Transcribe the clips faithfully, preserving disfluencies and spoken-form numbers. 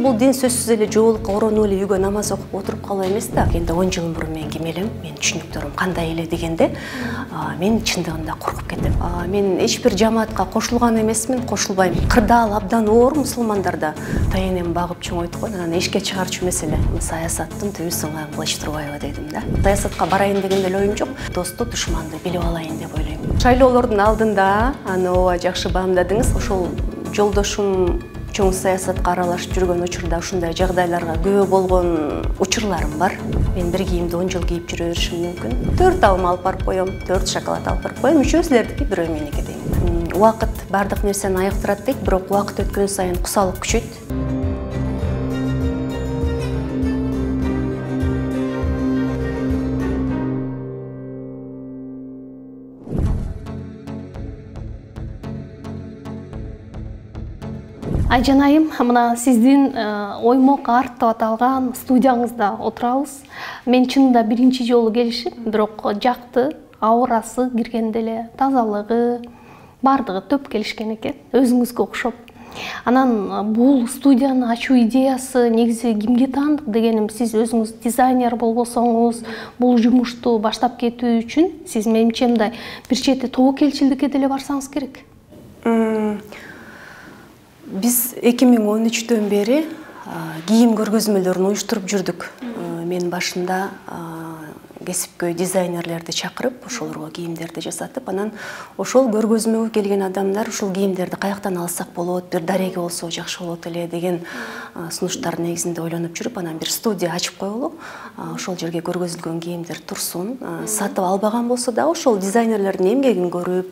Бул дин сөзсүз эле жоолукка оронуп эле үйгө намаз окуп отуруп калуу эмес да. Энди он жыл мурун мен ким элем, менин түшүнүктөрүм кандай эле дегенде, мен чындыгында коркуп кетем. Мен эч бир жамаатка кошулган эмесмин, кошулбайм. Кырдаал абдан оор мусулмандарда. Тайенем багып чоңойтуп койгон, анан эшикке чыгарчу эмес эле. Саясаттын түбү сыңган Кылыч Турбаева дедим да. Саясатка барайын деген деле оюм жок. Досту, душманды билип алайын деп ойлойм. Шайлоолордун алдында аны ооба жакшы баамдадыңыз. Ошол жолдошум чоң саясатка аралашып жүргөн учурда ушундай жагдайларга күбө болгон учурларым бар. Мен бир кийимди он жыл кийип жүрө беришим мүмкүн. төрт алма алып барып коем, төрт шоколад алып барып коем, үчөө силердики, бирөө меники дейм. Убакыт бардык нерсени айыктырат дейт, бирок убакыт өткөн сайын кусалык күчөйт. Айжанайым, мына сиздин оймок арт деп аталган студияңызда отурабыз. Мен чынында биринчи жолу келишим, бирок жакты, аурасы киргенде эле, тазалыгы, бардыгы төп келишкен экен, өзүңүзгө окшоп. Анан бул студияны ачуу идеясы негизи кимге таандык дегеним, сиз өзүңүз дизайнер болбосоңуз, бул жумушту баштап кетүү үчүн сиз менимче мындай бир чети тобокелчилдикке деле барсаңыз керек. Биз эки миң он үчтөн бери кийим көргөзмөлөрүн уюштуруп жүрдүк. Мен башында кесипкөй дизайнерлерди чакырып, ошолорго кийимдерди жасатып, анан ошол көргөзмөгө келген адамдар ушул кийимдерди каяктан алсак болот, бир дареги болсо жакшы болот эле деген сунуштар негизинде ойлонуп жүрүп, анан бир студия ачып коелу. Ошол жерге көргөзүлгөн кийимдер турсун. Сатып албаган болсо да ошол дизайнерлердин эмгегин көрүп,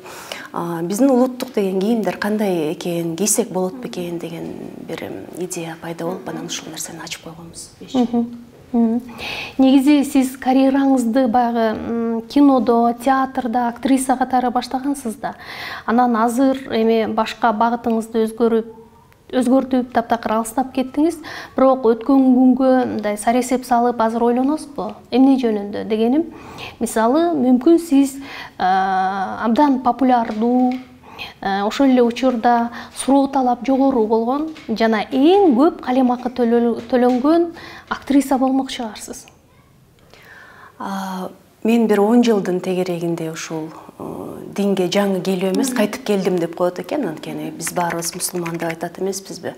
биздин улуттук деген кийимдер кандай экен, кийсек болот бекен деген бир идея пайда болуп, анан ушул нерсени ачып койгонбуз. Негизи сиз карьераңызды баягы кинодо, театрда актриса катары баштагансыз да. Анан азыр эми башка багытыңызды өзгөрүп, өзгөртүп, таптакыр алыстап кеттиңиз. Бирок өткөн күнгө мындай саресеп салып азыр ойлоносузбу? Эмне жөнүндө дегеним, мисалы, мүмкүн сиз абдан популярдуу, ошол эле учурда суроо талап жогору болгон жана эң көп калемакы төлөнгөн актриса болмок чыгарсыз. Мен бир он жылдын тегерегинде ушул динге жаңы келүү эмес, кайтып келдим деп коет экен. Анткени биз баарыбыз мусулман деп айтат эмеспизби?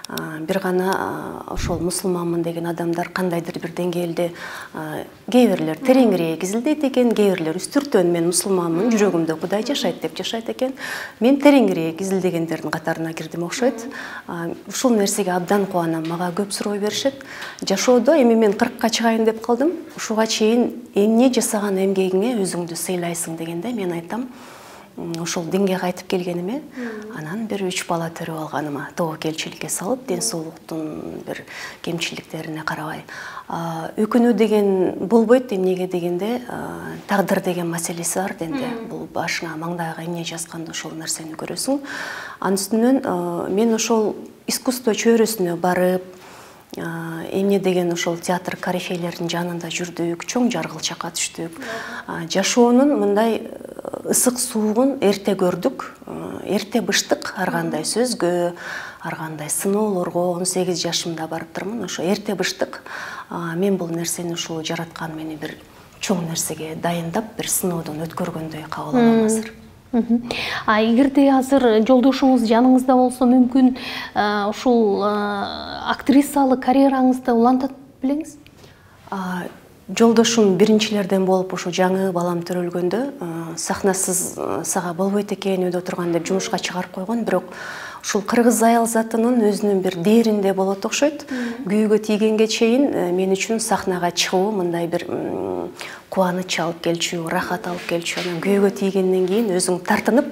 Бир гана ошол мусулманмын деген адамдар кандайдыр бир деңгээлде кээ бирлер тереңирээк изилдейт экен, кээ бирлер үстүртөн мен мусулманмын, жүрөгүмдө Кудай жашайт деп жашайт экен. Мен тереңирээк изилдегендердин катарына кирдим окшойт. Ушул нерсеге абдан кубанам. Мага көп суроо беришет. Жашоодо эми мен кыркка чыгайын деп калдым. Ушуга чейин эмне жасаган эмгегиңе өзүңдү сыйлайсың дегенде мен айтам, ошол динге кайтып келгениме, анан бир үч бала төрөп алганыма, тобокелчиликке салып, ден соолуктун бир кемчиликтерине карабай. Өкүнүү деген болбойт, эмнеге дегенде, тагдыр деген маселеси бар денде. Бул башыңа, маңдайга эмне жазганда ошол нерсени көрөсүң. Анын үстүнөн мен ошол искусство чөйрөсүнө барып, эмне деген ошол театр корифейлердин жанында жүрдүк, чоң жаргылчакка түштүк. Жашоонун мындай ысык суугун эрте көрдүк, эрте быштык, ар кандай сөзгө, ар кандай сыноолорго он сегиз жашымда барыптырмын. Ошо эрте быштык. Мен бул нерсени ушул жараткан мени бир чоң нерсеге дайындап, бир сыноодон өткөргөндөй кабыл алам азыр. А эгерде азыр жолдошуңуз жаныңызда болсо, мүмкүн ушул актрисалык карьераңызды улантат белеңиз? Жолдошум биринчилерден болуп, ушу жаңы балам төрөлгөндө сахнасыз сага болбойт экен, үйдө отурган деп жумушка чыгарып койгон, бирок ушул кыргыз аял затынын өзүнүн бир дээринде болот окшойт. Күйүүгө тийгенге чейин мен үчүн сахнага чыгуу мындай бир кубаныч алып келчү, рахат алып келчү. Анан күйүүгө тийгенден кийин өзүң тартынып,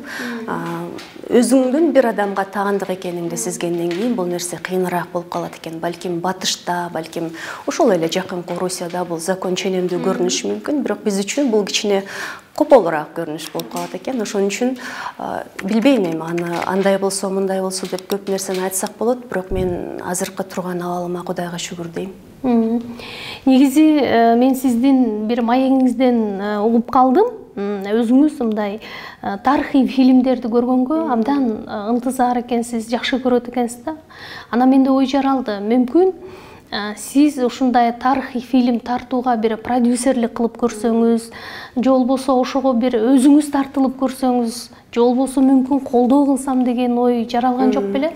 өзүңдүн бир адамга таандык экениңди сезгенден кийин бул нерсе кыйыныраак болуп калат экен. Балким батышта, балким ошол эле жакын Орусияда бул закон ченемдүү көрүнүшү мүмкүн, бирок биз үчүн бул кичине кополураак көрүнүш болуп калат экен. Ошон үчүн билбейм эми аны андай болсо, мындай болсо деп көп нерсени айтсак болот, бирок мен азыркы турган абалыма Кудайга шүгүр дейм. Негизи мен сиздин бир маегиңизден угуп калдым. өзүңүз мындай тарыхый фильмдерди көргөнгө абдан ынтызар экенсиз, жакшы көрөт экенсиз да. Анан менде ой жаралды, мүмкүн сиз ушундай тарыхый фильм тартууга бир продюсерлик кылып көрсөңүз, же болбосо ошого бир өзүңүз тартылып көрсөңүз, же болбосо мүмкүн колдоо кылсам деген ой жаралган жок беле?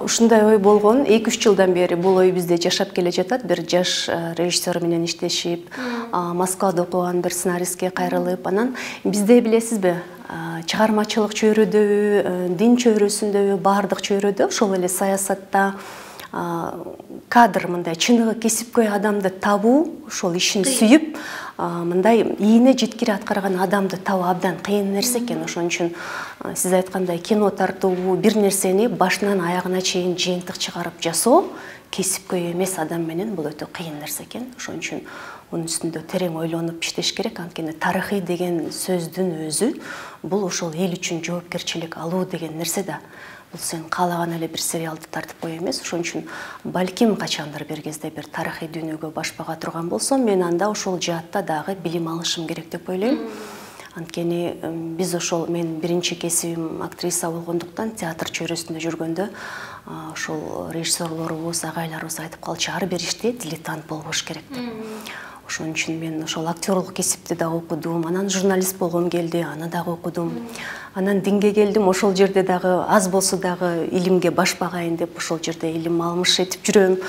Ушундай ой болгон. эки үч жылдан бери бул ой бизде жашап келе жатат. Бир жаш режиссер менен иштешип, Москвада окуган бир сценаристке кайрылып, анан бизде билесизби, чыгармачылык чөйрөдөбү, дин чөйрөсүндөбү, баардык чөйрөдө ошол эле саясатта кадр мындай чыныгы кесипкөй адамды табуу, ошол ишин сүйүп, мындай ийине жеткире аткарган адамды табуу абдан кыйын нерсе экен. Ошон үчүн сиз айткандай кино тартуу, бир нерсени башынан аягына чейин жыйынтык чыгарып жасоо кесипкөй эмес адам менен бул өтө кыйын нерсе экен. Ошон үчүн мунун үстүндө терең ойлонуп иштеш керек. Анткени тарыхый деген сөздүн өзү бул ошол эл үчүн жоопкерчилик алуу деген нерсе да. Бул сен каалаган эле бир сериалды тартып кое эмес. Ошон үчүн балким качандыр бир кезде бир тарыхый дүйнөгө баш бага турган болсом, мен анда ошол жаатта дагы билим алышым керек деп ойлойм. Анткени биз ошол, мен биринчи кесибим актриса болгондуктан театр чөйрөсүндө жүргөндө ошол режиссерлорубуз, агайларыбыз айтып калчу, ар бир иште дилетант болбош керек деп. Ошон үчүн мен ошол актерлук кесипти да окудум, анан журналист болгом келди, аны дагы окудум. Анан динге келдим, ошол жерде дагы аз болсо дагы илимге баш багайын деп ошол жерде илим алмыш этип жүрөм.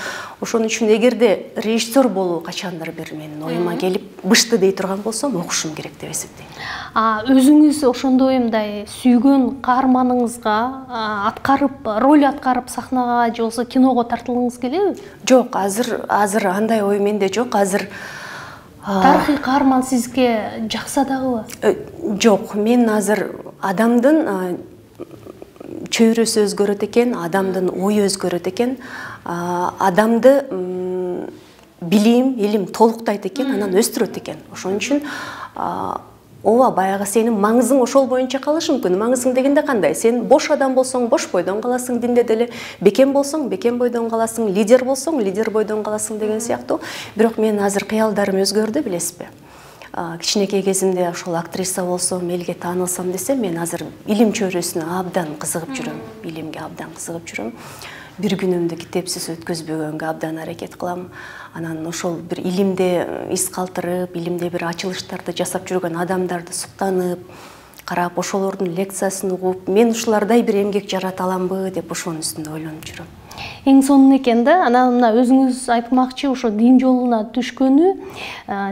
Ошон үчүн эгерде режиссер болуу качандыр бир менин оюма келип бышты дей турган болсом, окушум керек деп эсептейм. А өзүңүз ошондой мындай сүйгөн каарманыңызга аткарып, роль аткарып сахнага же болбосо киного тартылгыңыз келеби? Жок, азыр азыр андай ой менде жок. Азыр тарыхый каарман сизге жакса дагыбы? Жок, мен азыр адамдын чөйрөсү өзгөрөт экен, адамдын ою өзгөрөт экен, адамды билим, илим толуктайт экен, анан өстүрөт экен. Ошон үчүн ооба, баягы сенин маңызың ошол боюнча калышы мүмкүн. Маңызың дегенде кандай? Сен бош адам болсоң, бош бойдон каласың, динде деле, бекем болсоң, бекем бойдон каласың, лидер болсоң, лидер бойдон каласың деген сыяктуу. Бирок мен азыр кыялдарым өзгөрдү, билесизби? Кичинекей кезимде ошол актриса болсом, элге таанылсам десем, мен азыр илим чөйрөсүнө абдан кызыгып жүрөм. Илимге абдан кызыгып жүрөм. Бир күнүмдү китепсиз өткөзбөгөнгө абдан аракет кылам. Анан ошол бир илимде из калтырып, илимде бир ачылыштарды жасап жүргөн адамдарды суктанып, карап, ошолордун лекциясын угуп, мен ушулардай бир эмгек жарата аламбы деп ошонун үстүндө ойлонуп жүрөм. Эң сонун экен да. Анан мына өзүңүз айтмакчы, ошо дин жолуна түшкөнү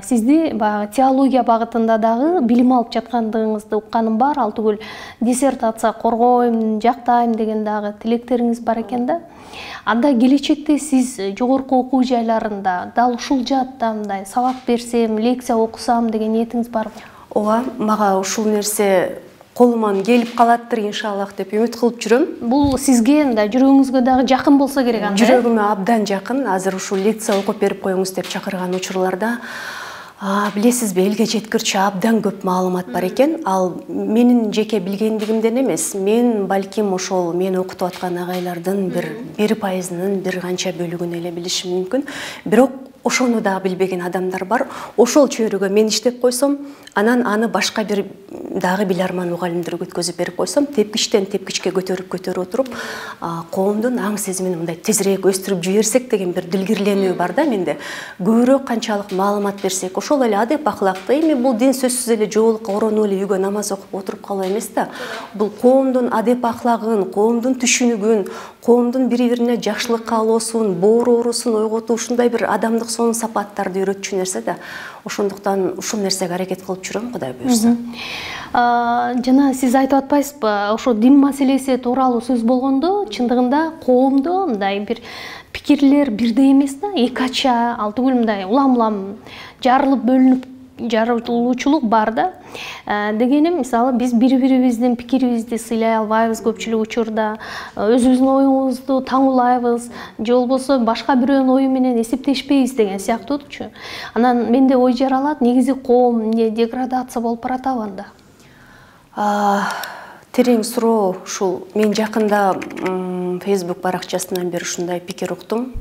сизди баягы теология багытында дагы билим алып жаткандыгыңызды укканым бар. Ал түгүл диссертация коргойм, жактайм деген дагы тилектериңиз бар экен да. Анда келечекте сиз жогорку окуу жайларында дал ушул жаатта мындай сабак берсем, лекция окусам деген ниетиңиз барбы? Ооба, мага ушул нерсе колуман келип калаттыр иншаллах деп үмүт кылып жүрөм. Бул сизге мындай жүрөгүңүзгө дагы жакын болсо керек анда. Жүрөгүмө абдан жакын. Азыр ушул лекция окуп берип коюңуз деп чакырган учурларда билесизби, элге жеткирчү абдан көп маалымат бар экен. Ал менин жеке билгендигимден эмес, мен балким ошол мен окутуп аткан агайлардын бир бир пайызынын бир канча бөлүгүн эле билишим мүмкүн. Бирок ошону да билбеген адамдар бар. Ошол чөйрөгө мен иштеп койсом, анан аны башка бир дагы биларман мугалимдерге өткөзүп берип койсом, тепкичтен тепкичке көтөрүп көтөрүп отуруп, коомдун аң сезимин мындай тезирээк өстүрүп жиберсек деген бир дилгирленүү бар да менде. Көбүрөөк канчалык маалымат берсек, ошол эле адеп акылакты. Эми бул дин сөзсүз эле жоолукка оронуп эле үйгө намаз окуп отуруп калуу эмес да. Бул коомдун адеп аклагын, коомдун түшүнүгүн, коомдун бири-бирине жакшылык каалоосун, боорорусун ойготуу, ушундай бир адамдык сонун сапаттарды үйрөтчү нерсе да. Ошондуктан ушул нерсеге аракет кылып жүрөм, Кудай буйрса. Жана сиз айтып атпайсызбы, ошо дин маселеси тууралуу сөз болгондо, чындыгында коомдо мындай бир пикирлер бирдей эмес да, эки ача, ал түгүл мындай улам-улам жарылып бөлүнүп жарылуучулук бар да. Дегеним, мисалы, биз бири-бирибиздин пикирибизди сыйлай албайбыз көпчүлүк учурда, өзүбүздүн оюңузду таңуулайбыз, же болбосо башка бирөөнүн ою менен эсептешпейбиз деген сыяктуучу. Анан менде ой жаралат, негизи коом эмне деградация болуп баратабы анда? Терең суроо ушул. Мен жакында Facebook баракчасынан бир ушундай пикир уктум.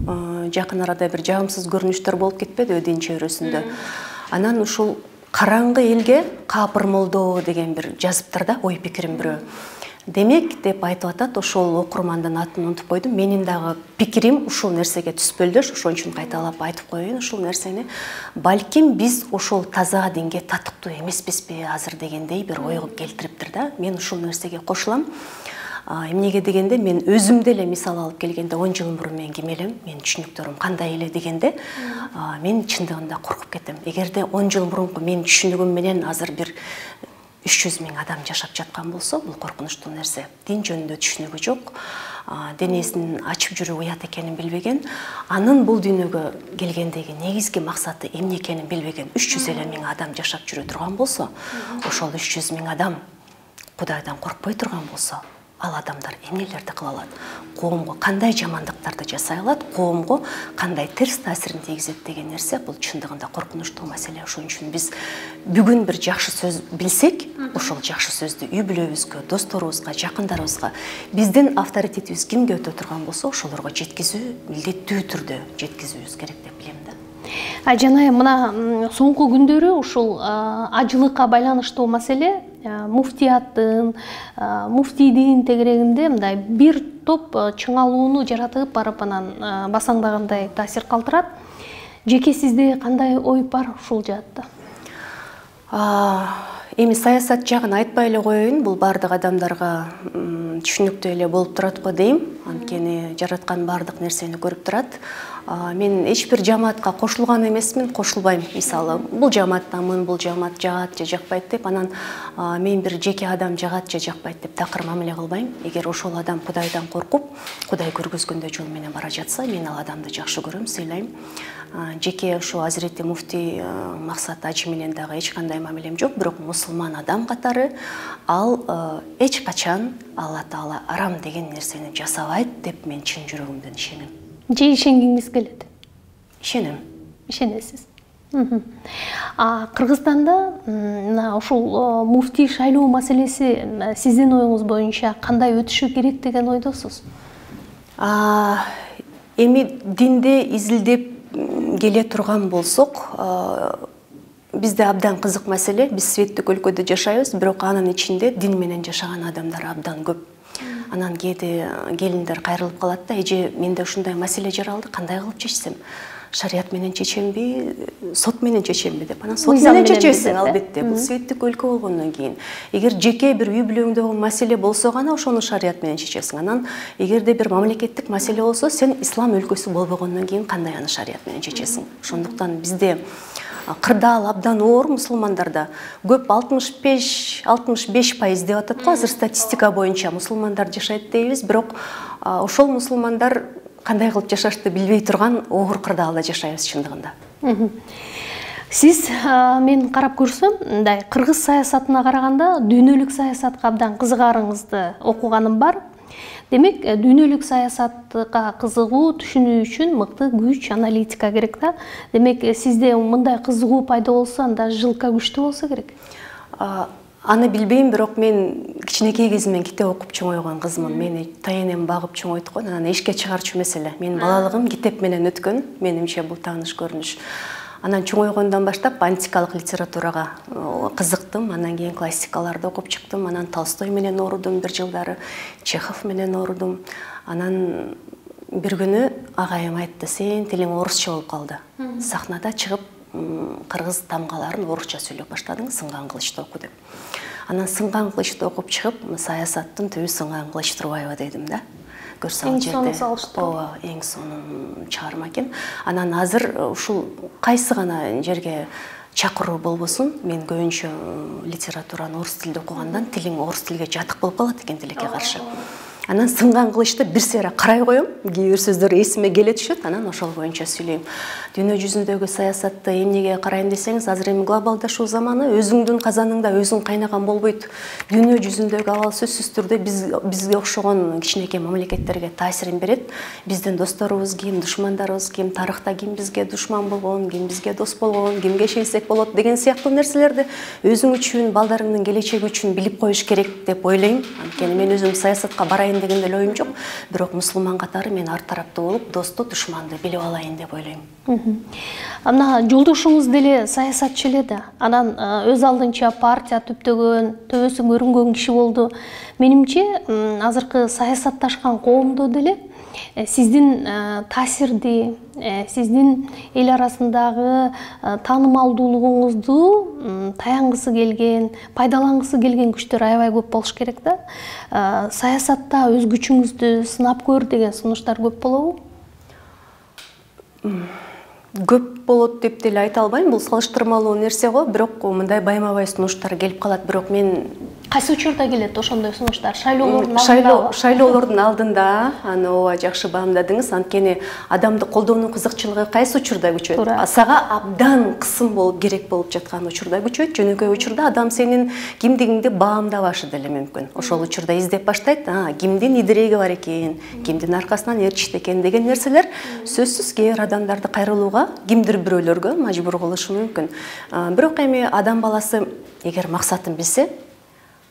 Жакын арада бир жагымсыз көрүнүштөр болуп кетпедиби дин чөйрөсүндө? Анан ушул караңгы элге капыр молдоо деген бир жазыптыр да, ой пикирин бирөө. Демек деп айтып атат, ошол окурмандын атын унутуп койдум. Менин дагы пикирим ушул нерсеге түспөлдөш, ошон үчүн кайталап айтып коеюн ушул нерсени. Балким биз ошол таза динге татыктуу эмеспизби азыр дегендей бир ойго келтириптир да. Мен ушул нерсеге кошулам. Эмнеге дегенде мен өзүмдө эле мисал алып келгенде он жыл мурун мен ким элем, менин түшүнүктөрүм кандай эле дегенде, мен чындыгында коркуп кетем. Эгерде он жыл мурунку менин түшүнүгүм менен азыр бир үч жүз миң адам жашап жаткан болсо, бул коркунучтуу нерсе. Дин жөнүндө түшүнүгү жок, денесин ачып жүрүү уят экенин билбеген, анын бул дүйнөгө келгендеги негизги максаты эмне экенин билбеген үч жүз элүү миң адам жашап жүрө турган болсо, ошол үч жүз миң адам Кудайдан коркпой турган болсо, ал адамдар эмнелерди кыла алат? Коомго кандай жамандыктарды жасай алат? Коомго кандай терс таасирин тийгизет деген нерсе бул чындыгында коркунучтуу маселе. Ошон үчүн биз бүгүн бир жакшы сөз билсек, ошол жакшы сөздү үй бүлөбүзгө, досторубузга, жакындарыбызга, биздин авторитетибиз кимге өтө турган болсо, ошолорго жеткизүү милдеттүү түрдө жеткизүүбүз керек деп билем да. Жана мына соңку күндөрү ушул ажылыкка байланыштуу маселе муфтияттын, муфтийдин тегерегинде мындай бир топ чыңалууну жаратып барып анан басаңдагандай таасир калтырат. Жеке сизде кандай ой бар ушул жаатта? Эми саясат жагын айтпай эле коеюн, бул бардык адамдарга түшүнүктүү эле болуп турат го дейм. Анткени жараткан бардык нерсени көрүп турат. Мен эч бир жамаатка кошулган эмесмин, кошулбайм. Мисалы, бул жамааттамын, бул жамаат жагат же жакпайт деп, анан мен бир жеке адам жагат же жакпайт деп такыр мамиле кылбайм. Эгер ошол адам Кудайдан коркуп, Кудай көргөзгөндөй жол менен бара жатса, мен ал адамды жакшы көрөм, сыйлайм. Жеке ошо Азирети муфтий Максат ажы менен дагы эч кандай мамилем жок, бирок мусулман адам катары ал эч качан Алла Таала арам деген нерсени жасабайт деп мен чын жүрөгүмдөн ишенем. Же ишенгиңиз келет? Ишенем. Ишенесиз. Кыргызстанда мына ушул муфтий шайлоо маселеси сиздин оюңуз боюнча кандай өтүшү керек деген ойдосуз? Эми динде изилдеп келе турган болсок, бизде абдан кызык маселе. Биз светтик өлкөдө жашайбыз, бирок анын ичинде дин менен жашаган адамдар абдан көп. Анан кээде келиндер кайрылып калат да, эже менде ушундай маселе жаралды, кандай кылып чечсем? Шарият менен чечемби, сот менен чечемби деп. Анан сот менен чечесиң албетте. Бул светтик өлкө болгондон кийин. Эгер жеке бир үй бүлөңдөгү маселе болсо гана ошону шарият менен чечесиң. Анан эгерде бир мамлекеттик маселе болсо, сен ислам өлкөсү болбогондон кийин кандай аны шарият менен чечесиң? Ошондуктан бизде кырдаал абдан оор, мусулмандарда көп алтымыш беш пайыз деп атат го, азыр статистика боюнча мусулмандар жашайт дейбиз, бирок ошол мусулмандар кандай кылып жашашты билбей турган оор кырдаалда жашайбыз чындыгында. Сиз мен карап көрсөм, мындай кыргыз саясатына караганда дүйнөлүк саясатка абдан кызыгарыңызды окуганым бар. Демек, дүйнөлүк саясатка кызыгуу, түшүнүү үчүн мыкты күч, аналитика керек да. Демек, сизде мындай кызыгуу пайда болсо, анда жылка күчтүү болсо керек. Аны билбейм, бирок мен кичинекей кезимден китеп окуп чоңойгон кызмын. Мени тайенем багып чоңойткон, анан эшикке чыгарчу маселе. Менин балалыгым китеп менен өткөн, менимче бул тааныш көрүнүш. Анан чоңойгондон баштап антикалык литературага кызыктым, анан кийин классикаларды окуп чыктым, анан Толстой менен орудум бир жылдары, Чехов менен орудум. Анан бир күнү агайым айтты: "Сен тилиң орусча болуп калды. Сахнада чыгып, кыргыз тамгаларын орусча сөйлөп баштадың, сынган кылычты оку" деп. Анан сынган кылычты окуп чыгып, саясаттын түбү сынган кылыч турбайбы дедим да. Көрсөң жерде. Ооба, эң сонун чыгарма экен. Анан азыр ушул кайсы гана жерге чакыруу болбосун, мен көбүнчө литератураны орус тилде окугандан тилиң орус тилге жатык болуп калат экен тилекке каршы. Анан сынган кылычты бир сыйра карай коем, кээ бир сөздөр эсиме келе түшөт, анан ошол боюнча сүйлөйм. Дүйнө жүзүндөгү саясатты эмнеге карайм десеңиз, азыр эми глобалдашуу заманы, өзүңдүн казаныңда өзүң кайнаган болбойт. Дүйнө жүзүндөгү абал сөзсүз түрдө биз бизге окшогон кичинекей мамлекеттерге таасирин берет. Биздин досторубуз ким, душмандарыбыз ким, тарыхта ким бизге душман болгон, ким бизге дос болгон, кимге ишенсек болот деген сыяктуу нерселерди өзүң үчүн, балдарыңдын келечеги үчүн билип коюш керек деп ойлойм. Анткени мен өзүм саясатка барайын алайын деген деле оюм жок. Бирок мусулман катары мен ар тараптуу болуп, досту, душманды билип алайын деп ойлойм. Ана жолдошуңуз деле саясатчы эле да. Анан өз алдынча партия түптөгөн, төбөсү көрүнгөн киши болду. Менимче, азыркы саясатташкан коомдо деле сиздин таасирди, сиздин эл арасындагы таанымалдуулугуңузду таянгысы келген, пайдалангысы келген күчтөр аябай көп болуш керек да. Саясатта өз күчүңүздү сынап көр деген сунуштар көп болобу? Көп болот деп деле айта албайм, бул салыштырмалуу нерсе го, бирок мындай байма-бай сунуштар келип калат, бирок мен кайсы учурда келет ошондой сунуштар? Шайлоолордун алдында? Шайлоолордун алдында, аны ооба жакшы баамдадыңыз. Анткени адамды колдоонун кызыкчылыгы кайсы учурда күчөйт? Сага абдан кысым болуп керек болуп жаткан учурда күчөйт. Жөнөкөй учурда адам сенин кимдигиңди баамдабашы деле мүмкүн. Ошол учурда издеп баштайт, кимдин идиреги бар экен, кимдин аркасынан ээрчишти экен деген нерселер сөзсүз кээ адамдарды кайрылууга, кимдир бирөөлөргө мажбур кылышы мүмкүн. Бирок эми адам баласы эгер максатын билсе,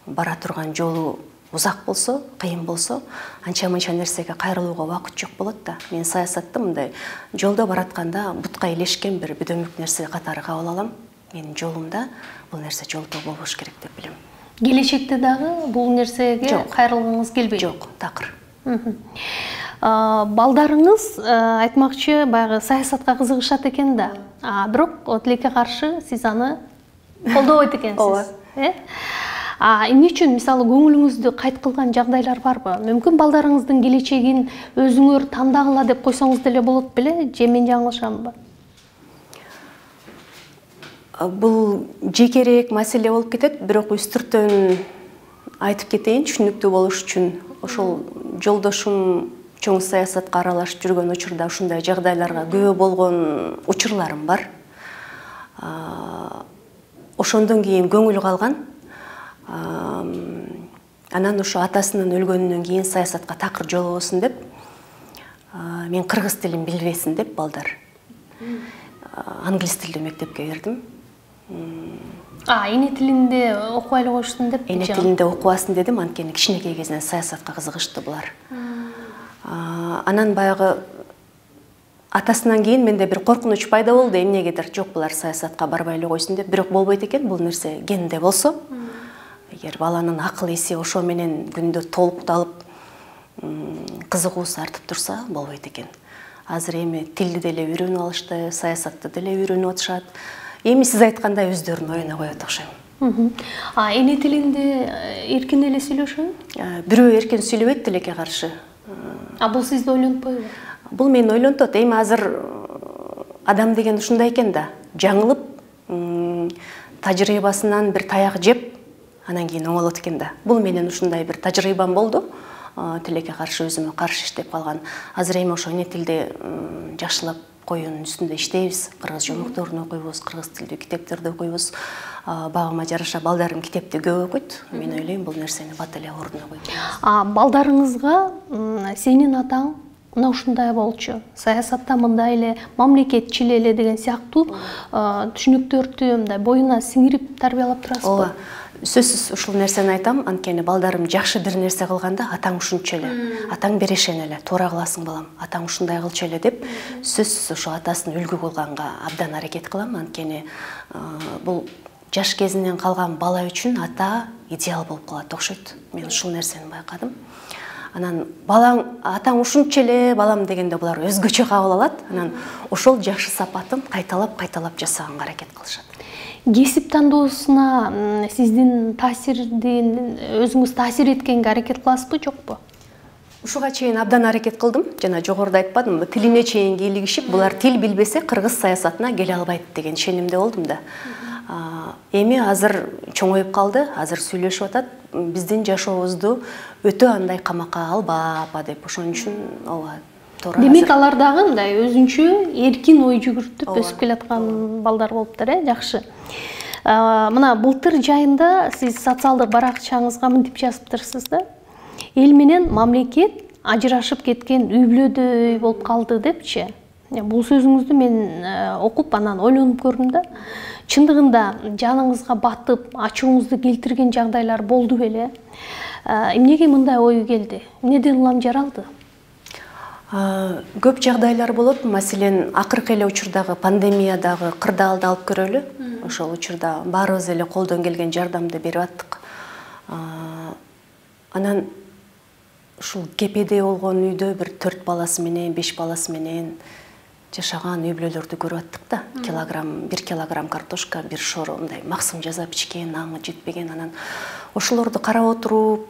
бара турган жолу узак болсо, кыйын болсо, анча-мынча нерсеге кайрылууга убакыт жок болот да. Мен саясатты мындай жолдо баратканда бутка илешкен бир бүдөмүк нерсе катары кабыл алам. Менин жолумда бул нерсе жолдо болбош керек деп билем. Келечекте дагы бул нерсеге кайрылгыңыз келбейт? Жок, такыр. Балдарыңыз айтмакчы баягы саясатка кызыгышат экен да. Бирок тилекке каршы сиз аны колдобойт экенсиз. Э? Эмне үчүн мисалы көңүлүңүздү кайт кылган жагдайлар барбы? Мүмкүн балдарыңыздын келечегин өзүңөр тандагыла деп койсоңуз деле болот беле, же мен жаңылышамбы? Бул жекерээк маселе болуп кетет, бирок үстүртөн айтып кетейин, түшүнүктүү болуш үчүн. Ошол жолдошум чоң саясатка аралашып жүргөн учурда ушундай жагдайларга күбө болгон учурларым бар. Ошондон кийин көңүл калган. Анан ошо атасынын өлгөнүнөн кийин саясатка такыр жолобосун деп, мен кыргыз тилин билбесин деп балдар англис тилдүү мектепке бердим. Эне тилинде окубай эле коюшсун деп? Эне тилинде окубасын дедим, анткени кичинекей кезинен саясатка кызыгышты булар. Анан баягы атасынан кийин менде бир коркунуч пайда болду, эмнегедир жок булар саясатка барбай эле койсун деп. Бирок болбойт экен, бул нерсе генде болсо. Эгер баланын акыл эси ошо менен күндө толукталып, кызыгуусу артып турса, болбойт экен. Азыр эми тилди деле үйрөнүп алышты, саясатты деле үйрөнүп атышат. Эми сиз айткандай өздөрүнүн оюна коет окшойм. Эне тилинде эркин эле сүйлөшөбү? Бирөө эркин сүйлөбөйт тилекке каршы. Бул сизди ойлонтпойбу? Бул мени ойлонтот. Эми азыр адам деген ушундай экен да, жаңылып, тажрыйбасынан бир таяк жеп, анан кийин оңолот экен да. Бул менен ушундай бир тажрыйбам болду. Тилекке каршы өзүмө каршы иштеп калган. Азыр эми ошо эне тилди жакшылап коюунун үстүндө иштейбиз. Кыргыз жолдорун окуйбуз, кыргыз тилдүү китептерди окуйбуз. Багыма жараша балдарым китепти көп окуйт. Мен ойлойм, бул нерсени бат эле ордуна койдум. Балдарыңызга сенин атаң мына ушундай болчу, саясатта мындай эле, мамлекетчил эле деген сыяктуу түшүнүктөрдү мындай боюна сиңирип тарбиялап турасызбы? Ооба. Сөзсүз ушул нерсени айтам, анткени балдарым жакшы бир нерсе кылганда атаң ушунча эле, атаң берешен эле, туура кыласың балам, атаң ушундай кылчу эле деп, сөзсүз ошо атасын үлгү кылганга абдан аракет кылам, анткени бул жаш кезинен калган бала үчүн ата идеал болуп калат окшойт. Мен ушул нерсени байкадым. Анан балаң, атаң ушунча эле балам дегенде булар өзгөчө кабыл алат. Анан ошол жакшы сапатын кайталап-кайталап жасаганга аракет кылышат. Кесип тандоосуна сиздин таасирдин өзүңүз таасир эткенге аракет кыласызбы, жокпу? Ушуга чейин абдан аракет кылдым. Жана жогоруда айтпадымбы, тилине чейин кийлигишип, булар тил билбесе кыргыз саясатына келе албайт деген ишенимде болдум да. Эми азыр чоңоюп калды, азыр сүйлөшүп атат. Биздин жашообузду өтө андай камакка алба апа деп, ошон үчүн ооба. Демек алар дагы мындай өзүнчө эркин ой жүгүртүп өсүп келаткан балдар болуптур, э, жакшы. Мына былтыр жайында сиз социалдык баракчаңызга мынтип жазыптырсыз да. Эл менен мамлекет ажырашып кеткен үй бүлөдөй болуп калды депчи. Бул сөзүңүздү мен окуп анан ойлонуп көрдүм да. Чындыгында жаныңызга батып, ачууңузду келтирген жагдайлар болду беле? Эмнеге мындай ой келди? Эмнеден улам жаралды? Көп жагдайлар болот. Маселен, акыркы эле учурдагы пандемиядагы кырдаалды алып көрөлү. Ошол учурда баарыбыз эле колдон келген жардамды берип аттык. Анан ушул кепеде болгон үйдө бир төрт баласы менен, беш баласы менен жашаган үй бүлөлөрдү көрүп аттык да. Килограмм, бир килограмм картошка, бир шоро мындай максым жасап ичкен, аңы жетпеген. Анан ошолорду карап отуруп,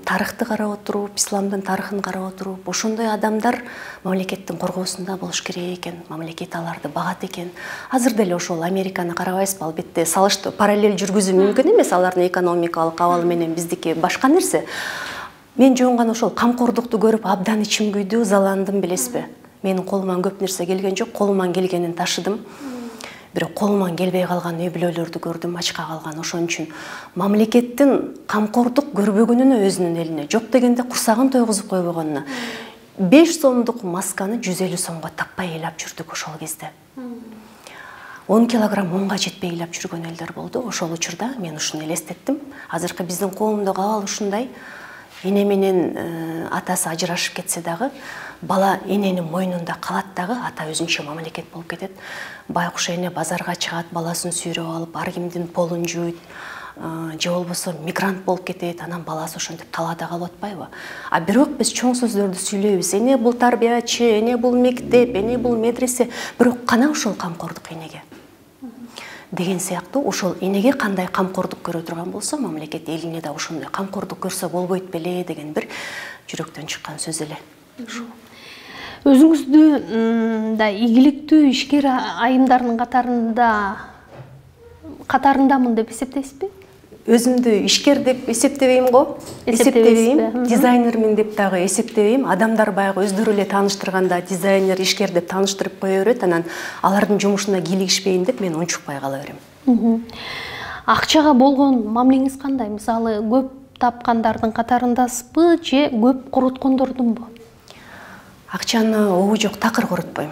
тарыхты карап отуруп, исламдын тарыхын карап отуруп, ошондой адамдар мамлекеттин коргоосунда болуш керек экен, мамлекет аларды багат экен. Азыр деле ошол Американы карабайсызбы? Албетте салыштуу параллель жүргүзүү мүмкүн эмес, алардын экономикалык абалы менен биздики башка нерсе. Мен жөн гана ошол камкордукту көрүп абдан ичим күйдү, ызаландым, билесизби? Менин колуман көп нерсе келген жок, колуман келгенин ташыдым. Бирок колуман келбей калган үй бүлөлөрдү көрдүм, ачка калган. Ошон үчүн мамлекеттин камкордук көрбөгөнүнө өзүнүн элине, жок дегенде курсагын тойгузуп койбогонуна беш сомдук масканы жүз элүү сомго таппай ыйлап жүрдүк ошол кезде. он килограмм унга жетпей ыйлап жүргөн элдер болду. Ошол учурда мен ушуну элестеттим. Азыркы биздин коомдогу абал ушундай. Эне менен атасы ажырашып кетсе дагы, бала эненин мойнунда калат дагы, ата өзүнчө мамлекет болуп кетет. Байкуш эне базарга чыгат, баласын сүйрөп алып, ар кимдин полун жууйт, же болбосо мигрант болуп кетет, анан баласы ошентип талаада калып атпайбы? А бирок биз чоң сөздөрдү сүйлөйбүз. Эне бул тарбиячы, эне бул мектеп, эне бул медресе, бирок кана ошол камкордук энеге деген сыяктуу. Ошол энеге кандай камкордук көрө турган болсо, мамлекет элине да ошондой камкордук көрсө болбойт беле деген бир жүрөктөн чыккан сөз эле. Өзүңүздү да ийгиликтүү ишкер айымдарынын катарында катарындамын деп эсептейсизби? Өзүмдү ишкер деп эсептебейм го. Эсептебейм. Дизайнермин деп дагы эсептебейм. Адамдар баягы өздөрү эле тааныштырганда дизайнер, ишкер деп тааныштырып кое берет. Анан алардын жумушуна кийлигишпейин деп мен унчукпай кала берем. Акчага болгон мамилеңиз кандай? Мисалы, көп тапкандардын катарындасызбы же көп короткондордунбу? Акчаны обу жок такыр коротпойм.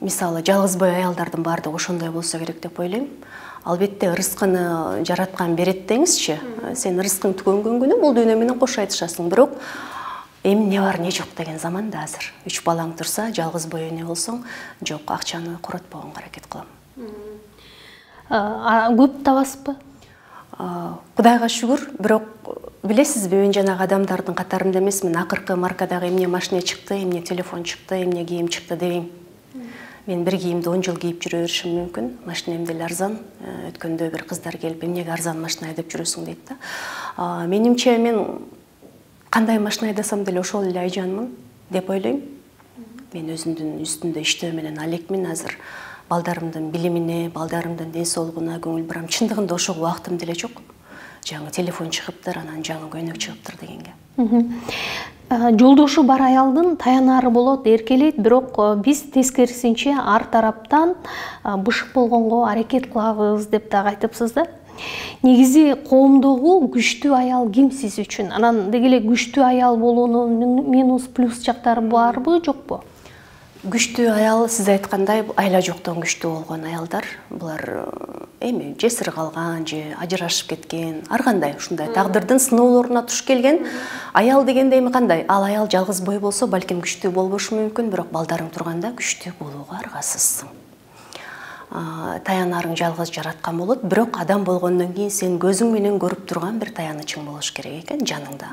Мисалы, жалгыз бой аялдардын баардыгы ошондой болсо керек деп ойлойм. Албетте рызкыны жараткан берет деңизчи. Сен рызкың түгөнгөн күнү бул дүйнө менен кош айтышасың. Бирок эми не бар, не жок деген заман да азыр. Үч балаң турса, жалгыз бой эне болсоң, жок, акчаны коротпогонго аракет кылам. Көп табасызбы? Кудайга шүгүр, бирок билесизби, мен жанагы адамдардын катарында эмесмин. Акыркы маркадагы эмне машина чыкты, эмне телефон чыкты, эмне кийим чыкты дебейм. Мен бир кийимди он жыл кийип жүрө беришим мүмкүн. Машинем деле арзан. Өткөндө бир кыздар келип, эмнеге арзан машина айдап жүрөсүң дейт да. Менимче мен кандай машина айдасам деле ошол эле айжанмын деп ойлойм. Мен өзүмдүн үстүндө иштөө менен алекмин азыр. Балдарымдын билимине, балдарымдын ден соолугуна көңүл бурам. Чындыгында ошого убактым деле жок. Жаңы телефон чыгыптыр, анан жаңы көйнөк чыгыптыр дегенге. Жолдошу бар аялдын таянары болот, эркелейт, бирок биз тескерисинче ар тараптан бышык болгонго аракет кылабыз деп дагы айтыпсыз да. Негизи коомдогу күчтүү аял ким сиз үчүн? Анан деги эле күчтүү аял болуунун минус плюс жактары барбы, жокпу? Күчтүү аял, сиз айткандай, айла жоктон күчтүү болгон аялдар. Булар эми жесир калган же ажырашып кеткен, ар кандай ушундай тагдырдын сыноолоруна туш келген аял дегенде эми кандай? Ал аял жалгыз бой болсо, балким күчтүү болбошу мүмкүн, бирок балдарың турганда күчтүү болууга аргасызсың. Таянарың жалгыз жараткан болот, бирок адам болгондон кийин сен көзүң менен көрүп турган бир таянычың болуш керек экен жаныңда.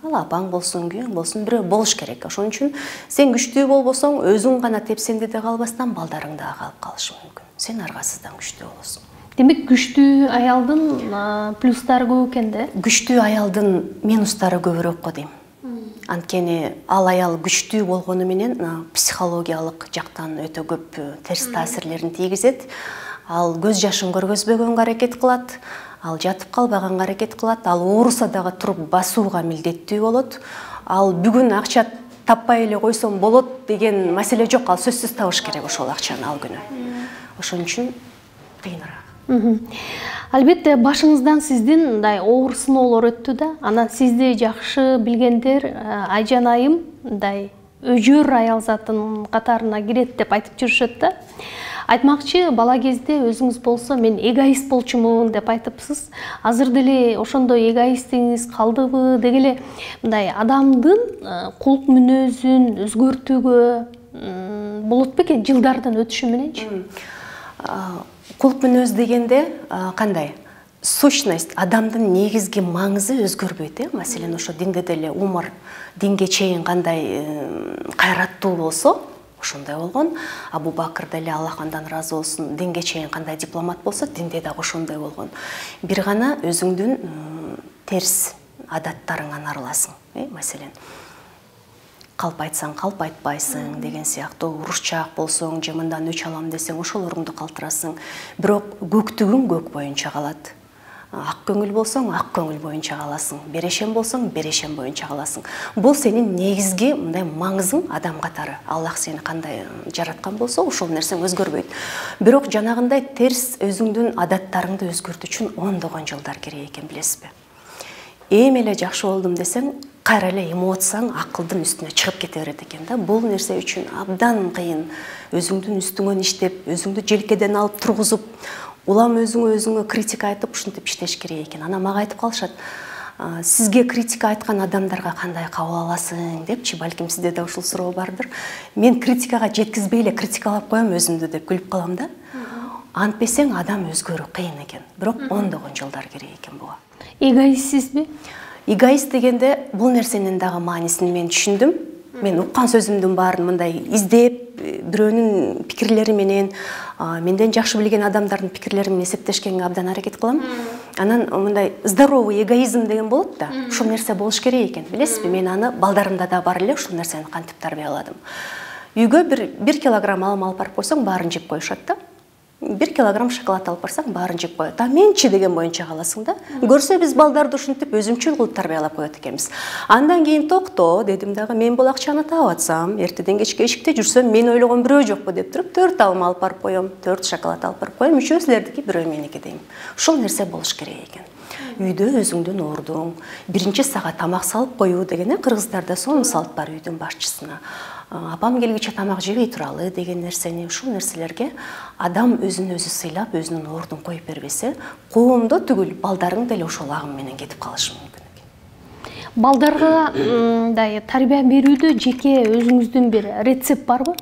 Ал апаң болсун, күйөөң болсун, бирөө болуш керек. Ошон үчүн сен күчтүү болбосоң, өзүң гана тепсенде да калбастан балдарың да калып калышы мүмкүн. Сен аргасыздан күчтүү болосуң. Демек, күчтүү аялдын плюстары көп экен да? Күчтүү аялдын минустары көбүрөөк го дейм. Анткени ал аял күчтүү болгону менен психологиялык жактан өтө көп терс таасирлерин тийгизет. Ал көз жашын көргөзбөгөнгө аракет кылат, ал жатып калбаганга аракет кылат, ал ооруса дагы туруп басууга милдеттүү болот. Ал бүгүн акча таппай эле койсом болот деген маселе жок, ал сөзсүз табыш керек ошол акчаны ал күнү. Ошон үчүн кыйыныраак. Албетте башыңыздан сиздин мындай оор сыноолор өттү да. Анан сизди жакшы билгендер Айжан айым мындай өжөр аял затын катарына кирет деп айтып жүрүшөт да. Айтмакчы, бала кезде өзүңүз болсо мен эгоист болчумун деп айтыпсыз. Азыр деле ошондой эгоисттигиңиз калдыбы? Деги эле мындай адамдын кулк мүнөзүн өзгөртүүгө болот бекен жылдардын өтүшү мененчи? Кулк мүнөз дегенде кандай? Сущность, адамдын негизги маңызы өзгөрбөйт, э? Маселен, ошо динде деле умар динге чейин кандай кайраттуу болсо, ошондой болгон. Абу Бакыр деле Аллах андан ыраазы болсун, динге чейин кандай дипломат болсо, динде дагы ошондой болгон. Бир гана өзүңдүн терс адаттарыңан арыласың, э? Маселен, калп айтсаң калп айтпайсың деген сыяктуу, урушчаак болсоң же мындан өч алам десең ошолоруңду калтырасың. Бирок көктүгүң көк боюнча калат. Ак көңүл болсоң ак көңүл боюнча каласың, берешем болсоң берешем боюнча каласың. Бул сенин негизги мындай маңызың адам катары. Аллах сени кандай жараткан болсо, ошол нерсең өзгөрбөйт. Бирок жанагындай терс өзүңдүн адаттарыңды өзгөртүү үчүн ондогон жылдар керек экен, билесизби? Эми эле жакшы болдум десең, кайра эле эмоцияң акылдын үстүнө чыгып кете берет экен да. Бул нерсе үчүн абдан кыйын. Өзүңдүн үстүңөн иштеп, өзүңдү желкеден алып тургузуп, улам өзүңө өзүңө критика айтып, ушинтип иштеш керек экен. Ана мага айтып калышат, сизге критика айткан адамдарга кандай кабыл аласың депчи, балким сизде да ушул суроо бардыр. Мен критикага жеткизбей эле критикалап коем өзүмдү деп күлүп калам да. Антпесең адам өзгөрүү кыйын экен. Бирок ондогон жылдар керек экен буга. Эгоистсизби? Эгоист дегенде бул нерсенин дагы маанисин мен түшүндүм. Мен уккан сөзүмдүн баарын мындай издеп, бирөөнүн пикирлери менен, менден жакшы билген адамдардын пикирлери менен эсептешкенге абдан аракет кылам. Анан мындай здоровый эгоизм деген болот да. Ушул нерсе болуш керек экен. Билесизби, мен аны балдарымда да бар эле, ушул нерсени кантип тарбияладым. Үйгө бир килограмм алым алып барып койсоң, баарын жеп коюшат да. бир килограмм шоколад алып барсаң, баарын жеп коет. А менчи деген боюнча каласың да. Көрсө биз балдарды ушинтип өзүмчүл кылып тарбиялап коет экенбиз. Андан кийин токто дедим дагы, мен бул акчаны таап атсам, эртеден кечке эшикте жүрсөм, мен ойлогон бирөө жокпу деп туруп, төрт алым алып барып коем, төрт шоколад алып барып коем, үчөө силердики, бирөө меники дейм. Ушул нерсе болуш керек экен. Үйдө өзүңдүн ордуң, биринчи сага тамак салып коюу деген, кыргыздарда сонун салт бар үйдүн башчысына. Апам келгиче тамак жебей туралы деген нерсени, ушул нерселерге адам өзүн өзү сыйлап, өзүнүн ордун коюп бербесе, коомдо түгүл, балдарың деле ошол агым менен кетип калышы мүмкүн экен. Балдарга мындай тарбия берүүдө жеке өзүңүздүн бир рецепт барбы?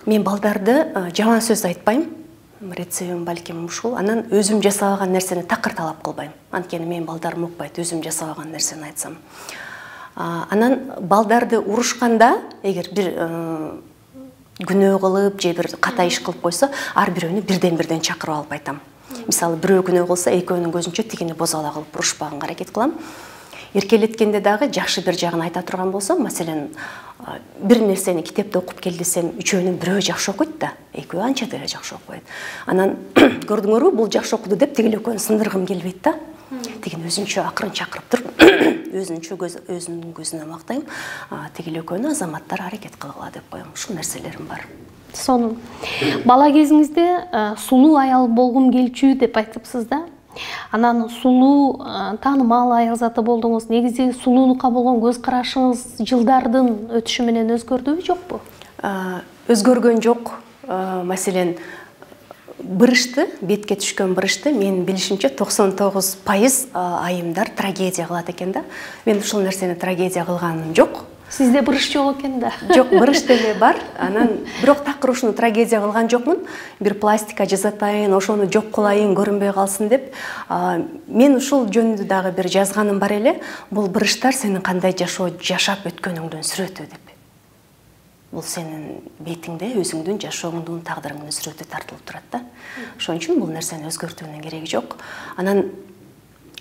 Мен балдарды жаман сөз айтпайм. Рецептим балким ушул. Анан өзүм жасабаган нерсени такыр талап кылбайм. Анткени мен балдарым укпайт, өзүм жасабаган нерсени айтсам. Анан балдарды урушканда, эгер бир күнөө кылып же бир ката иш кылып койсо, ар бирөөнү бирден-бирден чакырып алып айтам. Мисалы, бирөө күнөө кылса, экөөнүн көзүнчө тигини бозала кылып урушпаганга аракет кылам. Эркелеткенде дагы жакшы бир жагын айта турган болсом, маселен, бир нерсени китепте окуп кел десем, үчөөнүн бирөө жакшы окуйт да, экөө анча деле жакшы окубайт. Анан көрдүңөрбү, бул жакшы окуду деп тигил экөөнү сындыргым келбейт да. Тигин өзүнчө акырын чакырып туруп, өзүнчө өзүнүн көзүнө мактайм, тигил экөөнү азаматтар аракет кылгыла деп коем. Ушул нерселерим бар. Сонун. Бала кезиңизде сулуу аял болгум келчү деп айтыпсыз да. Анан сулуу, таанымал аял заты болдуңуз. Негизи сулуулукка болгон көз карашыңыз жылдардын өтүшү менен өзгөрдүбү, жокпу? Өзгөргөн жок. Маселен, бырышты, бетке түшкөн бырышты менин билишимче токсон тогуз пайыз айымдар трагедия кылат экен да. Мен ушул нерсени трагедия кылганым жок. Сизде бырыш жок экен да. Жок, бырыш деле бар. Анан бирок такыр ушуну трагедия кылган жокмун. Бир пластика жасатайын, ошону жок кылайын, көрүнбөй калсын деп. Мен ушул жөнүндө дагы бир жазганым бар эле. Бул бырыштар сенин кандай жашоо жашап өткөнүңдүн сүрөтү деп. Бул сенин бетиңде өзүңдүн жашооңдун, тагдырыңдын сүрөтү тартылып турат да. Ошон үчүн бул нерсени өзгөртүүнүн кереги жок. Анан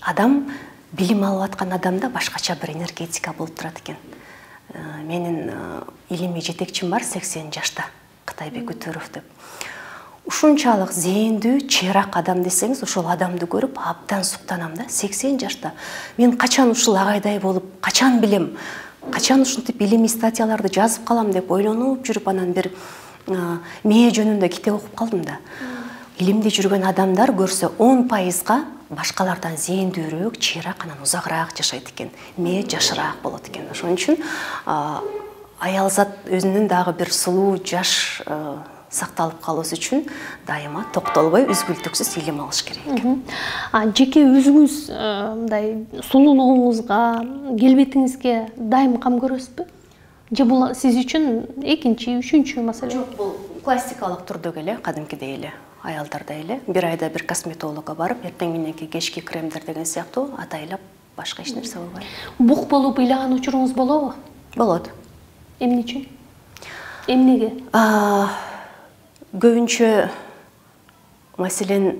адам билим алып аткан адамда башкача бир энергетика болуп турат экен. Менин илимий жетекчим бар, сексен жашта, Кытайбек Өтөров деп. Ушунчалык зээндүү, чыйрак адам десеңиз, ошол адамды көрүп абдан суктанам да, сексен жашта. Мен качан ушул агайдай болуп, качан билем, качан ушинтип илимий статьяларды жазып калам деп ойлонуп жүрүп, анан бир мээ жөнүндө китеп окуп калдым да. Илимде жүргөн адамдар көрсө он пайызга башкалардан зээндүүрөөк, чыйрак, анан узагыраак жашайт экен. Мээ жашыраак болот экен. Ошон үчүн аялзат өзүнүн дагы бир сулуу жаш сакталып калышы үчүн дайыма токтолбой үзгүлтүксүз илим алыш керек. А жеке өзүңүз мындай сулуулугуңузга, келбетиңизге дайым кам көрөсүзбү? Же бул сиз үчүн экинчи, үчүнчү маселе? Жок, бул классикалык түрдөгү эле, кадимкидей эле, аялдардай эле. Бир айда бир косметологко барып, эртең мененки кечки кремдер деген сыяктуу атайлап башка эч нерсе болбойт. Бук болуп ыйлаган учуруңуз болобу? Болот. Эмне үчүн? Эмнеге? Көбүнчө маселен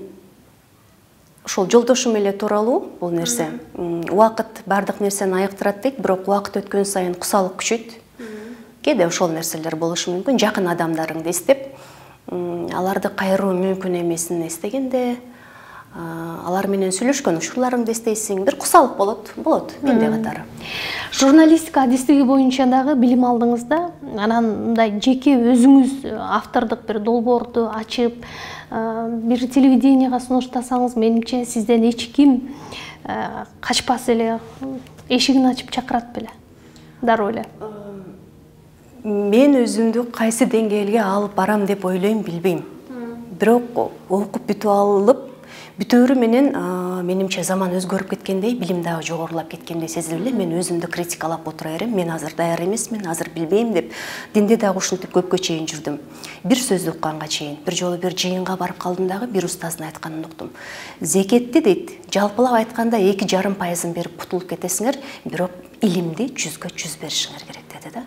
ошол жолдошум эле тууралуу бул нерсе. Убакыт бардык нерсени айыктырат дейт, бирок убакыт өткөн сайын кусалык күчөйт. Кээде ошол нерселер болушу мүмкүн. Жакын адамдарыңды эстеп, аларды кайруу мүмкүн эмесин эстегенде, алар менен сүйлөшкөн учурларыңды эстейсиң, бир кусалык болот, болот, менде катары. Журналистика адистиги боюнча дагы билим алдыңыз да, анан мындай жеке өзүңүз автордук бир долбоорду ачып, бир телевиденияга сунуштасаңыз, менимче сизден эч ким качпас эле, эшигин ачып чакырат беле. Дароо эле. Мен өзүмдү кайсы деңгээлге алып барам деп ойлойм, билбейм. Бирок окуп бүтүп алып, бүтөөрү менен менимче заман өзгөрүп кеткендей, билим дагы жогорулап кеткендей сезилип эле, мен өзүмдү критикалап отура берем. Мен азыр даяр эмесмин, азыр билбейм деп. Динде дагы ушинтип көпкө чейин жүрдүм. Бир сөздү укканга чейин. Бир жолу бир жыйынга барып калдым дагы, бир устаздын айтканын уктум. Зекетти дейт, жалпылап айтканда эки жарым пайызын берип кутулуп кетесиңер, бирок илимди жүзгө жүз беришиңер керек деди да.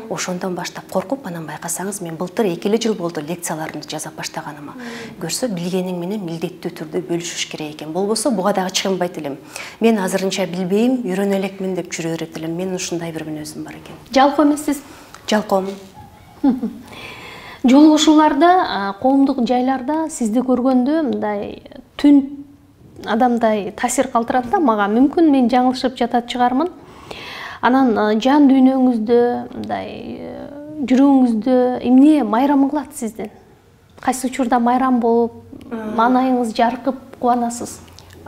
Ошондон баштап коркуп, анан байкасаңыз, мен былтыр эки эле жыл болду лекцияларымды жаза баштаганыма. Көрсө, билгениң менен милдеттүү түрдө бөлүшүш керек экен. Болбосо буга дагы чыгынбайт элем. Мен азырынча билбейм, үйрөнө элекмин деп жүрө берет элем. Менин ушундай бир мүнөзүм бар экен. Жалкоо эмессиз? Жалкоомун. Жолугушууларда, коомдук жайларда сизди көргөндө мындай түн адамдай таасир калтырат да мага. Мүмкүн мен жаңылышып жатат чыгармын. Анан жан дүйнөңүздө, мындай жүрөгүңүздө эмне майрам кылат сизден? Кайсы учурда майрам болуп, маанайыңыз жаркып кубанасыз?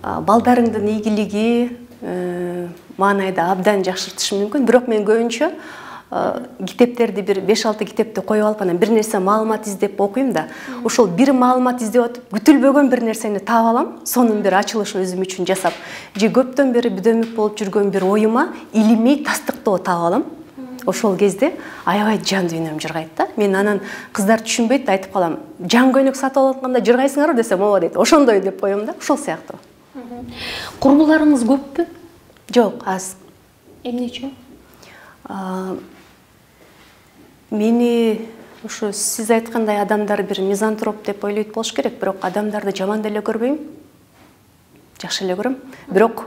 Балдарыңдын ийгилиги маанайда абдан жакшыртышы мүмкүн, бирок мен көбүнчө китептерди бир беш алты китепти коюп алып, анан бир нерсе маалымат издеп окуйм да, ошол бир маалымат издеп атып, күтүлбөгөн бир нерсени таап алам, сонун бир ачылыш өзүм үчүн жасап, же көптөн бери бүдөмүк болуп жүргөн бир оюма илимий тастыктоо таап алам. Ошол кезде аябай жан дүйнөм жыргайт да. Мен анан кыздар түшүнбөйт, айтып калам, жан көйнөк сатып алып атканда жыргайсыңарбы десем, ооба дейт. Ошондой деп коем да, ошол сыяктуу. Курбуларыңыз көппү? Жок, аз. Эмне үчүн? Мени ушу сиз айткандай адамдар бир мизантроп деп ойлойт болуш керек, бирок адамдарды жаман деле көрбөйм. Жакшы эле көрөм. Бирок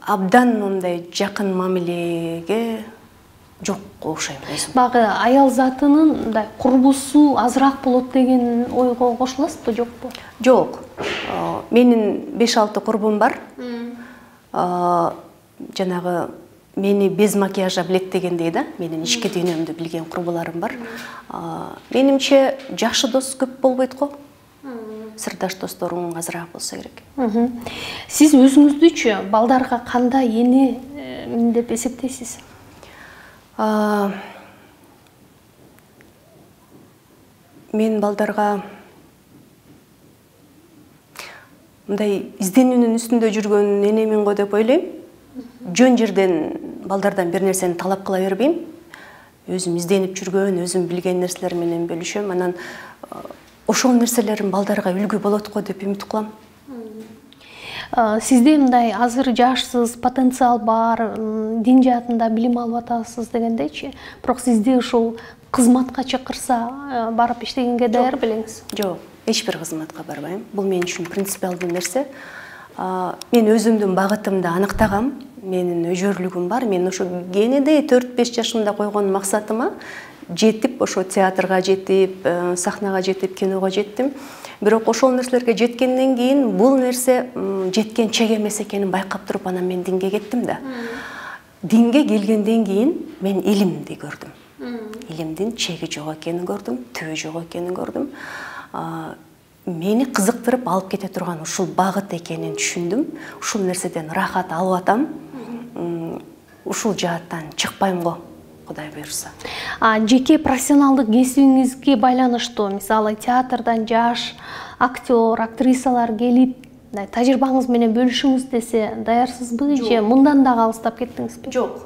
абдан мындай жакын мамилеге жок окшойм өзүм. Багы аял затынын мындай курбусу азыраак болот деген ойго кошуласызбы, жокпу? Жок. Менин беш алты курбум бар. Жанагы мени без макияжа билет дегендей да, менин ички дүйнөмдү билген курбуларым бар. Менимче жакшы дос көп болбойт го. Сырдаш досторуң азыраак болсо керек. Сиз өзүңүздүчү балдарга кандай эне деп эсептейсиз? Мен балдарга мындай изденүүнүн үстүндө жүргөн энемин го деп ойлойм. Жөн жерден балдардан бир нерсени талап кыла бербейм. Өзүм изденип жүргөн, өзүм билген нерселер менен бөлүшөм. Анан ошол нерселерим балдарга үлгү болот го деп үмүт кылам. Сизде мындай азыр жашсыз, потенциал бар, дин жаатында билим алып атасыз дегендейчи. Бирок сизди ушул кызматка чакырса, барып иштегенге даяр белеңиз? Жок, эч бир кызматка барбайм. Бул мен үчүн принципиалдуу нерсе. Мен өзүмдүн багытымды аныктагам. Менин өжөрлүгүм бар. Мен ошо кенедей төрт беш жашымда койгон максатыма жетип, ошо театрга жетип, сахнага жетип, киного жеттим. Бирок ошол нерселерге жеткенден кийин бул нерсе жеткен чек эмес экенин байкап туруп, анан мен динге кеттим да. Динге келгенден кийин мен илимди көрдүм. Илимдин чеги жок экенин көрдүм, түбү жок экенин көрдүм. Мени кызыктырып алып кете турган ушул багыт экенин түшүндүм. Ушул нерседен рахат алып атам. Ушул жааттан чыкпайм го. Кудай буйрса. А жеке профессионалдык кесибиңизге байланыштуу, мисалы театрдан жаш актер, актрисалар келип, тажрыйбаңыз менен бөлүшүңүз десе, даярсызбы же мындан да алыстап кеттиңизби? Жок.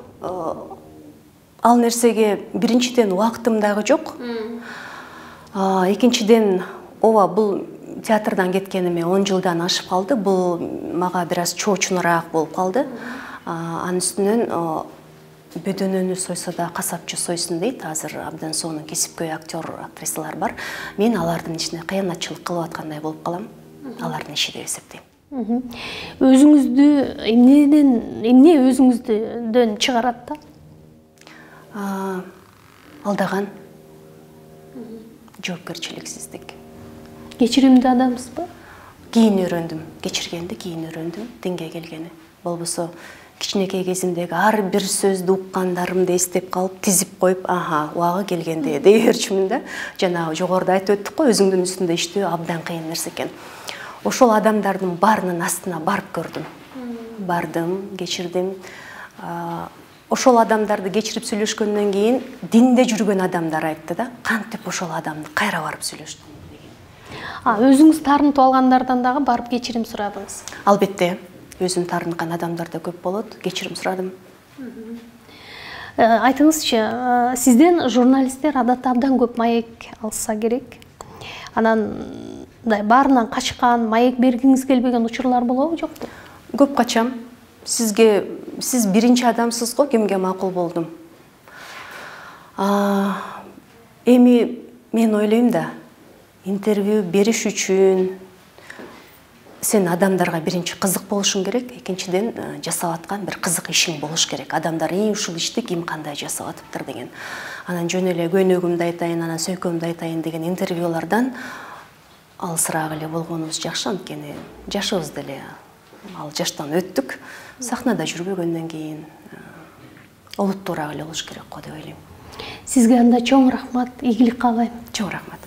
Ал нерсеге биринчиден убактым дагы жок. Экинчиден, ооба, бул театрдан кеткениме он жылдан ашып калды. Бул мага бир аз чоочунураак болуп калды. Анын үстүнөн бөдөнөнү сойсо да касапчы сойсун дейт. Азыр абдан сонун кесипкөй актер, актрисалар бар. Мен алардын ичине кыянатчылык кылып аткандай болуп калам. Алардын иши деп эсептейм. Өзүңүздү эмнеден, эмне өзүңүздөн чыгарат да? Алдаган, жоопкерчиликсиздик. Кечиримдүү адамсызбы? Кийин үйрөндүм, кечиргенди кийин үйрөндүм, динге келгени. Болбосо кичинекей кезимдеги ар бир сөздү уккандарымды эстеп калып, тизип коюп, аха, убагы келгенде дей берчүмүн да. Жанагы жогоруда айтып өттүк го, өзүңдүн үстүндө иштөө абдан кыйын нерсе экен. Ошол адамдардын баарынын астына барып көрдүм. Бардым, кечирдим. Ошол адамдарды кечирип сүйлөшкөндөн кийин динде жүргөн адамдар айтты да, кантип ошол адамды кайра барып сүйлөштүң деген. А өзүңүз таарынтып алгандардан дагы барып кечирим сурадыңыз? Албетте, өзүм таарынткан адамдар да көп болот, кечирим сурадым. Айтыңызчы, сизден журналисттер адатта абдан көп маек алса керек. Анан баарынан качкан, маек бергиңиз келбеген учурлар болобу, жокпу? Көп качам. Сизге, сиз биринчи адамсыз го, кимге макул болдум. Эми мен ойлойм да, интервью бериш үчүн сен адамдарга биринчи кызык болушуң керек, экинчиден жасап аткан бир кызык ишиң болуш керек. Адамдар ии ушул ишти ким кандай жасап атыптыр деген. Анан жөн эле көйнөгүмдү айтайын, анан сөйкөмдү айтайын деген интервьюлардан алысыраак эле болгонубуз жакшы, анткени жашыбыз деле ал жаштан өттүк. Сахнада жүрбөгөндөн кийин олуттуураак эле болуш керек го деп ойлойм. Сизге анда чоң рахмат, ийгилик каалайм. Чоң рахмат.